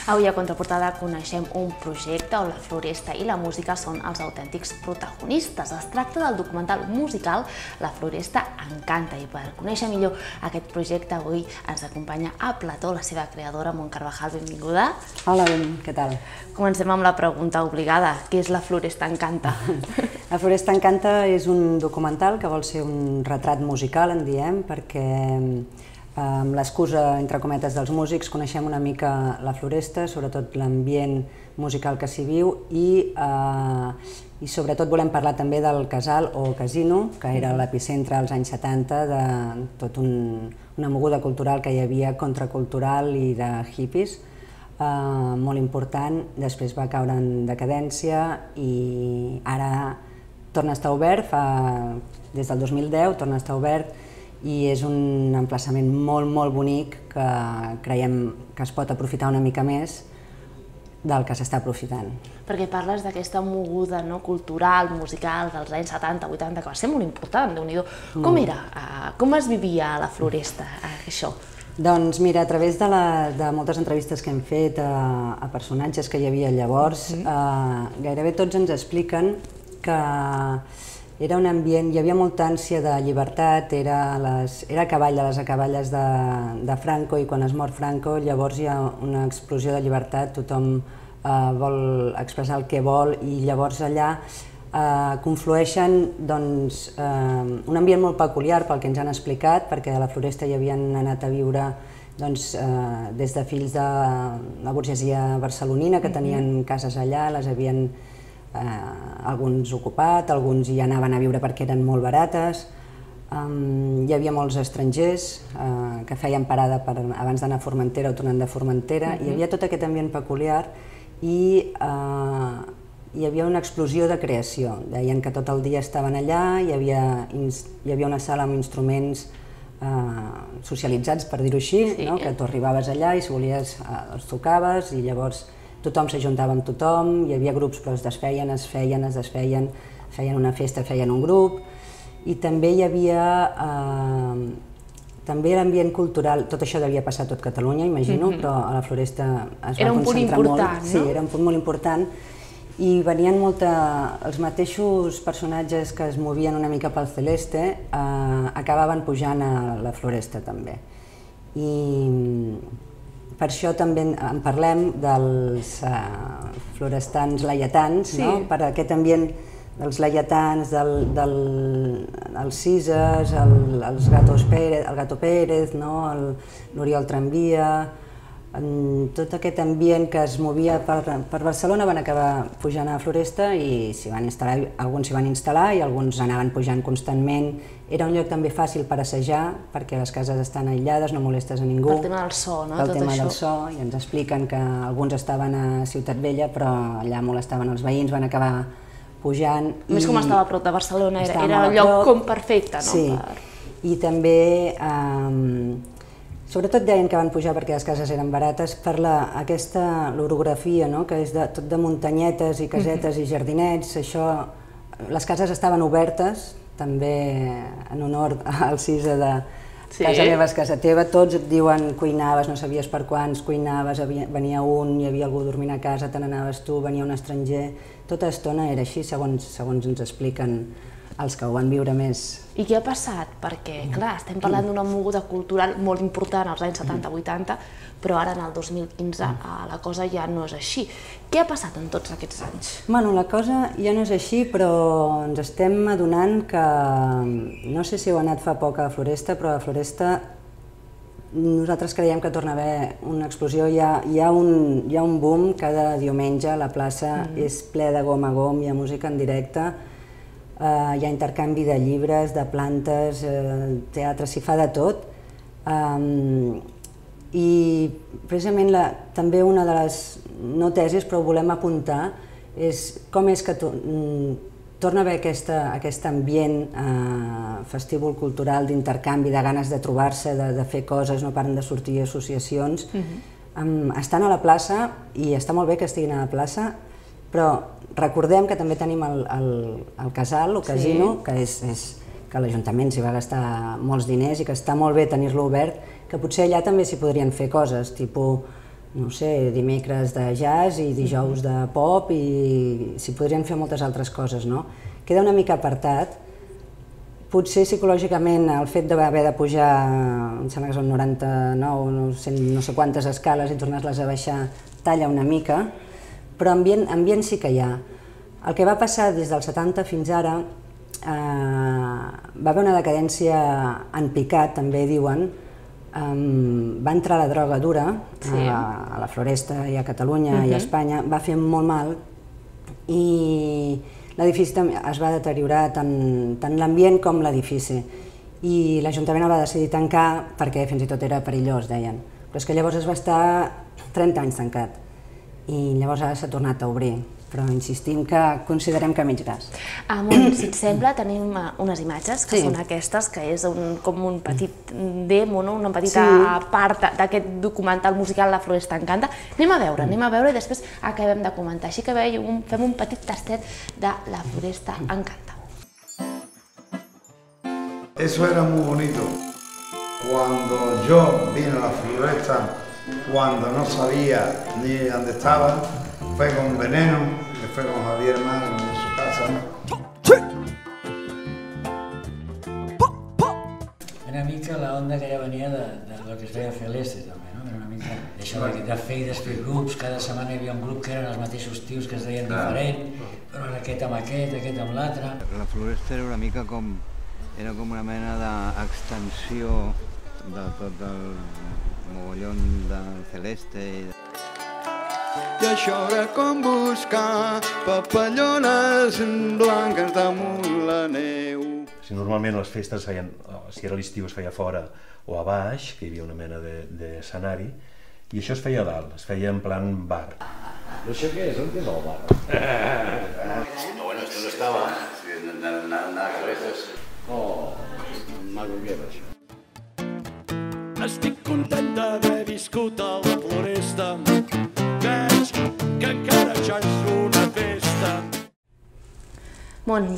Avui a Contraportada coneixem un projecte on la floresta i la música són els autèntics protagonistes. Es tracta del documental musical La Floresta Encanta, i per conèixer millor aquest projecte avui ens acompanya a plató la seva creadora, Mont Carvajal. Benvinguda. Hola, què tal? Comencem amb la pregunta obligada. Què és La Floresta Encanta? La Floresta Encanta és un documental que vol ser un retrat musical, en diem, perquè amb l'excusa, entre cometes, dels músics coneixem una mica la floresta, sobretot l'ambient musical que s'hi viu i sobretot volem parlar també del casal o casino, que era l'epicentre als anys 70 de tota una moguda cultural que hi havia, contracultural i de hippies, molt important. Després va caure en decadència i ara torna a estar obert, des del 2010 torna a estar obert, i és un emplaçament molt bonic que creiem que es pot aprofitar una mica més del que s'està aprofitant. Perquè parles d'aquesta moguda cultural, musical dels anys 70-80, que va ser molt important, Déu-n'hi-do. Com era? Com es vivia a la floresta, això? Doncs mira, a través de moltes entrevistes que hem fet a personatges que hi havia llavors, gairebé tots ens expliquen que era un ambient, hi havia molta ànsia de llibertat, era a cavall de les acaballes de Franco, i quan es mor Franco llavors hi ha una explosió de llibertat, tothom vol expressar el que vol, i llavors allà conflueixen un ambient molt peculiar pel que ens han explicat, perquè a la floresta hi havien anat a viure des de fills de la burgesia barcelonina que tenien cases allà, les havien alguns ocupat, alguns hi anaven a viure perquè eren molt barates. Hi havia molts estrangers que feien parada abans d'anar a Formentera o tornant de Formentera. Hi havia tot aquest ambient peculiar i hi havia una explosió de creació. Deien que tot el dia estaven allà, hi havia una sala amb instruments socialitzats, per dir-ho així, que tu arribaves allà i si volies els tocaves, i llavors tothom s'ajuntava amb tothom, hi havia grups però es desfeien, es desfeien, feien una festa, feien un grup, i també hi havia també l'ambient cultural. Tot això devia passar a tot Catalunya, imagino, però a la floresta es va concentrar molt. Era un punt important, no? Sí, era un punt molt important, i venien els mateixos personatges que es movien una mica pel celeste, acabaven pujant a la floresta també. I per això també en parlem dels florestans laietans, per aquest ambient dels laietans, dels Cises, el Gato Pérez, l'Oriol Tramvia, tot aquest ambient que es movia per Barcelona van acabar pujant a la floresta i alguns s'hi van instal·lar i alguns anaven pujant constantment. Era un lloc també fàcil per assajar, perquè les cases estan aïllades, no molestes a ningú. Pel tema del so, no? Pel tema del so, i ens expliquen que alguns estaven a Ciutat Vella, però allà molestaven els veïns, van acabar pujant. A més, com estava a prop de Barcelona, era el lloc com perfecte, no? Sí, i també sobretot deien que van pujar perquè les cases eren barates per l'orografia, que és tot de muntanyetes i casetes i jardinets. Les cases estaven obertes, també en honor al Cisa de casa meva és casa teva. Tots et diuen cuinaves, no sabies per quants cuinaves, venia un, hi havia algú dormint a casa, te n'anaves tu, venia un estranger. Tota estona era així, segons ens expliquen els que ho van viure més. I què ha passat? Perquè, clar, estem parlant d'una moguda cultural molt important als anys 70-80, però ara, en el 2015, la cosa ja no és així. Què ha passat en tots aquests anys? Bueno, la cosa ja no és així, però ens estem adonant que, no sé si heu anat fa poc a la floresta, però a la floresta nosaltres creiem que torna a haver una explosió. Hi ha un boom cada diumenge, la plaça és ple de gom a gom, hi ha música en directe, hi ha intercanvi de llibres, de plantes, teatre, s'hi fa de tot. I precisament també una de les, no tesis, però ho volem apuntar, és com és que torna a haver aquest ambient festívol cultural, d'intercanvi, de ganes de trobar-se, de fer coses, no paren de sortir associacions. Estan a la plaça, i està molt bé que estiguin a la plaça, però recordem que també tenim el casal, el casino, que l'Ajuntament s'hi va gastar molts diners i que està molt bé tenir-lo obert, que potser allà també s'hi podrien fer coses, tipus no sé, dimecres de jazz i dijous de pop i s'hi podrien fer moltes altres coses, no? Queda una mica apartat. Potser psicològicament el fet d'haver de pujar, em sembla que són 99, no sé quantes escales i tornar-les a baixar, talla una mica, però ambient sí que hi ha. El que va passar des dels 70 fins ara, va haver una decadència en picat, també diuen. Va entrar la droga dura a la Floresta i a Catalunya i a Espanya, va fer molt mal i l'edifici es va deteriorar tant l'ambient com l'edifici i l'Ajuntament el va decidir tancar perquè fins i tot era perillós, deien. Però és que llavors es va estar 30 anys tancat i llavors ara s'ha tornat a obrir. Però insistim que considerem que mig gas. Si et sembla, tenim unes imatges que són aquestes, que és com un petit demo, una petita part d'aquest documental musical La Floresta Encanta. Anem a veure i després acabem de comentar. Així que fem un petit tastet de La Floresta Encanta. Eso era muy bonito. Cuando yo vine a La Floresta, cuando no sabía ni dónde estaba, fue con Veneno, que fue con Javier Magno en su casa. Una mica la onda que ja venia de lo que es feia fer l'Este, també, no? Era una mica d'això de fer i desfer grups, cada setmana hi havia un grup que eren els mateixos tios que es deien diferent, però aquest amb aquest amb l'altre. La Floresta era una mica com una mena d'extensió de tot el mogollon del Celeste. I això era com buscar papallones blanques damunt la neu. Normalment les festes feien, si era l'estiu es feia fora o a baix, que hi havia una mena d'escenari, i això es feia a dalt, es feia en plan bar. Però això què és? On és el bar? No, bueno, esto no estaba. Nada que ver. Oh, maco que era això. Estic content d'haver viscut a la Floresta. Veig que encara ja és una festa.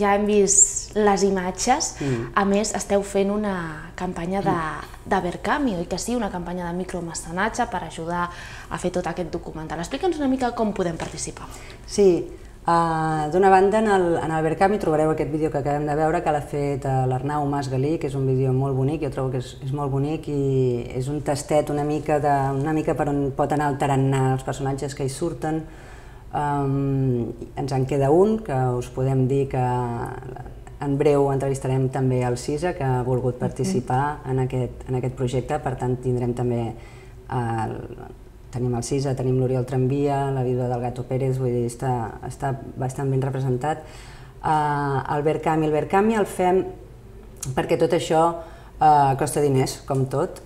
Ja hem vist les imatges. A més, esteu fent una campanya d'Abercami, oi que sí? Una campanya de micromecenatge per ajudar a fer tot aquest documental. Explica'ns una mica com podem participar. Sí, d'una banda, en Abercami trobareu aquest vídeo que acabem de veure, que l'ha fet l'Arnau Mas Galí, que és un vídeo molt bonic, jo trobo que és molt bonic i és un tastet una mica per on pot anar el tarannà, els personatges que hi surten. Ens en queda un, que us podem dir que en breu entrevistarem també el Cisa, que ha volgut participar en aquest projecte, per tant tindrem també tenim el Cisa, tenim l'Oriol Tramvia, la vídua del Gato Pérez, vull dir, està bastant ben representat. El Verkami el fem perquè tot això costa diners, com tot,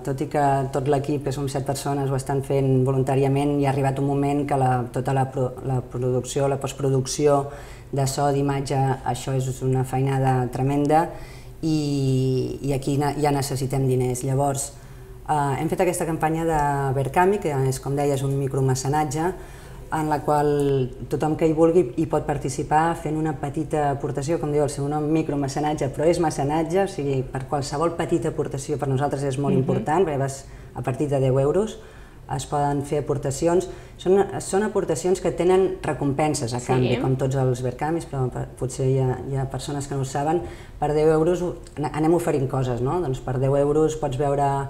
tot i que tot l'equip, que som 7 persones, ho estan fent voluntàriament, i ha arribat un moment que tota la producció, la postproducció de so, d'imatge, això és una feinada tremenda i aquí ja necessitem diners. Llavors, hem fet aquesta campanya de Verkami, que és, com deies, un micromecenatge, en la qual tothom que hi vulgui hi pot participar fent una petita aportació, com diu el seu nom, micromecenatge, però és mecenatge, o sigui, per qualsevol petita aportació per nosaltres és molt important, perquè a partir de 10 euros es poden fer aportacions. Són aportacions que tenen recompenses a canvi, com tots els Verkamis, però potser hi ha persones que no ho saben. Per 10 euros anem oferint coses, no? Doncs per 10 euros pots veure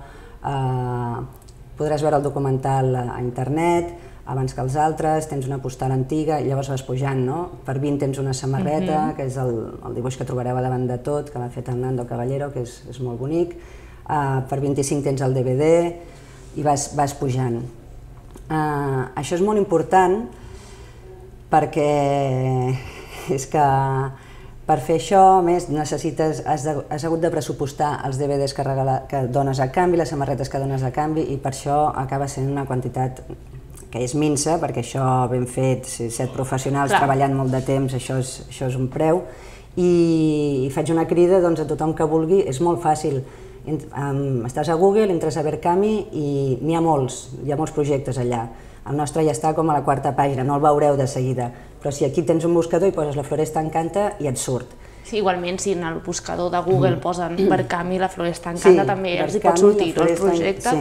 podràs veure el documental a internet abans que els altres, tens una postal antiga i llavors vas pujant, no? Per 20 tens una samarreta, que és el dibuix que trobareu a davant de tot, que l'ha fet el Nando Caballero, que és molt bonic. Per 25 tens el DVD i vas pujant. Això és molt important perquè és que per fer això, a més, has hagut de pressupostar els DVDs que dones a canvi, les samarretes que dones a canvi, i per això acaba sent una quantitat que és minsa, perquè això ben fet, 7 professionals treballant molt de temps, això és un preu, i faig una crida a tothom que vulgui, és molt fàcil. Estàs a Google, entres a Verkami i n'hi ha molts projectes allà. El nostre ja està com a la 4a pàgina, no el veureu de seguida, però si aquí tens un buscador i poses La Floresta Encanta i et surt. Sí, igualment, si en el buscador de Google posen Verkami, La Floresta Encanta, també els hi pot sortir el projecte.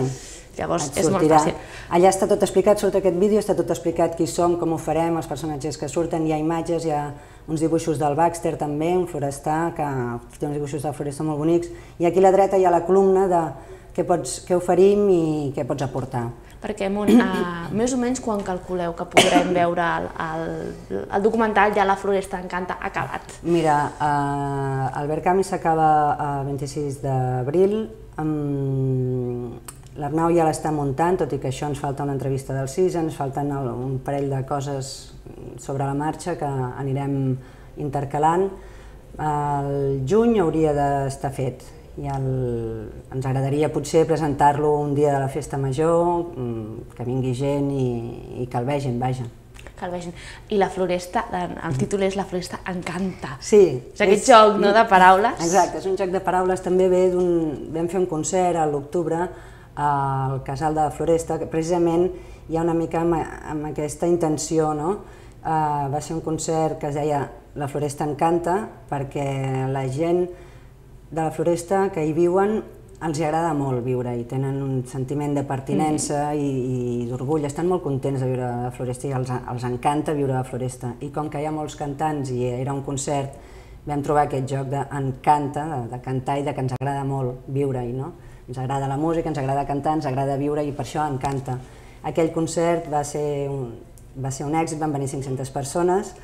Llavors és molt fàcil. Allà està tot explicat, surt aquest vídeo, està tot explicat qui som, com ho farem, els personatges que surten, hi ha imatges, hi ha uns dibuixos del Baxter també, un forestà, que té uns dibuixos del forestà molt bonics, i aquí a la dreta hi ha la columna de què oferim i què pots aportar. Perquè, més o menys, quan calculeu que podrem veure el documental ja La Floresta Encanta acabat? Mira, el Verkami s'acaba el 26 d'abril, l'Arnau ja l'està muntant, tot i que això ens falta una entrevista del CIS, ens falten un parell de coses sobre la marxa que anirem intercalant. El juny hauria d'estar fet. I ens agradaria potser presentar-lo un dia de la festa major, que vingui gent i que el vegin, vaja. Que el vegin. I La Floresta, el títol és La Floresta Encanta. Sí. És aquest joc de paraules. Exacte, és un joc de paraules, també vam fer un concert a l'octubre al Casal de la Floresta, que precisament hi ha una mica amb aquesta intenció, no? Va ser un concert que es deia La Floresta Encanta, perquè la gent de la Floresta que hi viuen els agrada molt viure i tenen un sentiment de pertinença i d'orgull, estan molt contents de viure a la Floresta i els encanta viure a la Floresta. I com que hi ha molts cantants i era un concert, vam trobar aquest joc d'encanta, de cantar i de que ens agrada molt viure-hi, no? Ens agrada la música, ens agrada cantar, ens agrada viure i per això encanta. Aquell concert va ser un èxit, van venir 500 persones,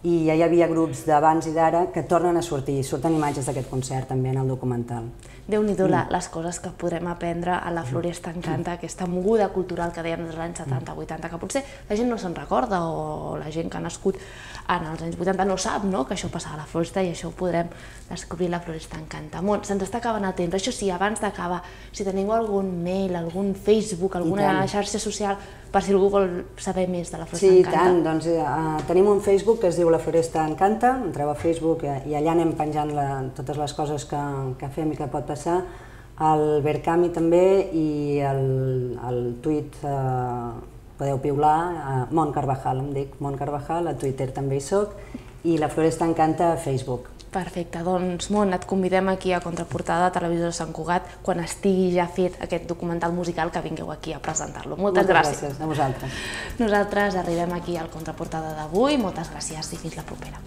i ja hi havia grups d'abans i d'ara que tornen a sortir, surten imatges d'aquest concert també en el documental. Déu-n'hi-do les coses que podrem aprendre a La Floresta Encanta, aquesta moguda cultural que dèiem dels anys 70-80, que potser la gent no se'n recorda o la gent que ha nascut en els anys 80 no sap que això passava a la Floresta i això ho podrem descobrir La Floresta Encanta. Se'ns està acabant el temps, això sí, abans d'acabar, si teniu algun mail, algun Facebook, alguna xarxa social, per si algú vol saber més de La Floresta Encanta. Sí, i tant, doncs tenim un Facebook que es diu La Floresta Encanta, entreu a Facebook i allà anem penjant totes les coses que fem i que pot passar, el Verkami també i el tuit podeu piular, Mont Carvajal, em dic Mont Carvajal, a Twitter també hi soc, i La Floresta Encanta a Facebook. Perfecte, doncs Mont, et convidem aquí a Contraportada, a Televisió de Sant Cugat, quan estigui ja fet aquest documental musical que vingueu aquí a presentar-lo. Moltes gràcies. Moltes gràcies a vosaltres. Nosaltres arribem aquí al Contraportada d'avui, moltes gràcies i fins la propera.